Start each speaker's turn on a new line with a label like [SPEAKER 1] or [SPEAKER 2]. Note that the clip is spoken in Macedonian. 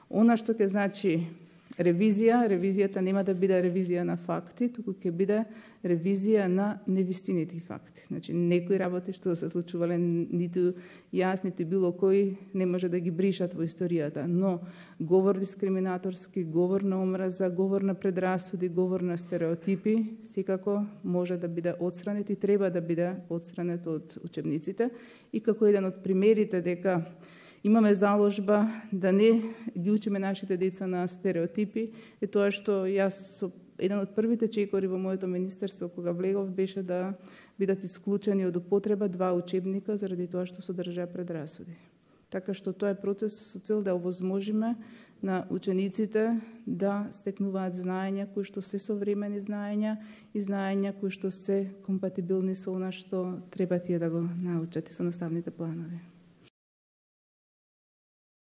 [SPEAKER 1] Она што ќе значи ревизијата нема да биде ревизија на факти, туку ќе биде ревизија на невистините факти. Значи, некои работи што се случувале, ниту јас, ниту било кој не може да ги бришат во историјата, но говор дискриминаторски, говор на омраза, говор на предрасуди, говор на стереотипи, секако може да биде отстранет и треба да биде отстранет од учебниците. И како еден од примерите дека имаме заложба да не ги учиме нашите деца на стереотипи, е тоа што јас еден од првите чекори во моето министерство кога влегов беше да бидат исклучени од употреба 2 учебника заради тоа што содржаа предрасуди. Така што тоа е процес со цел да овозможиме на учениците да стекнуваат знаења кои што се современи знаења и знаења кои што се компатибилни со она што треба тие да го научат и со наставните планови.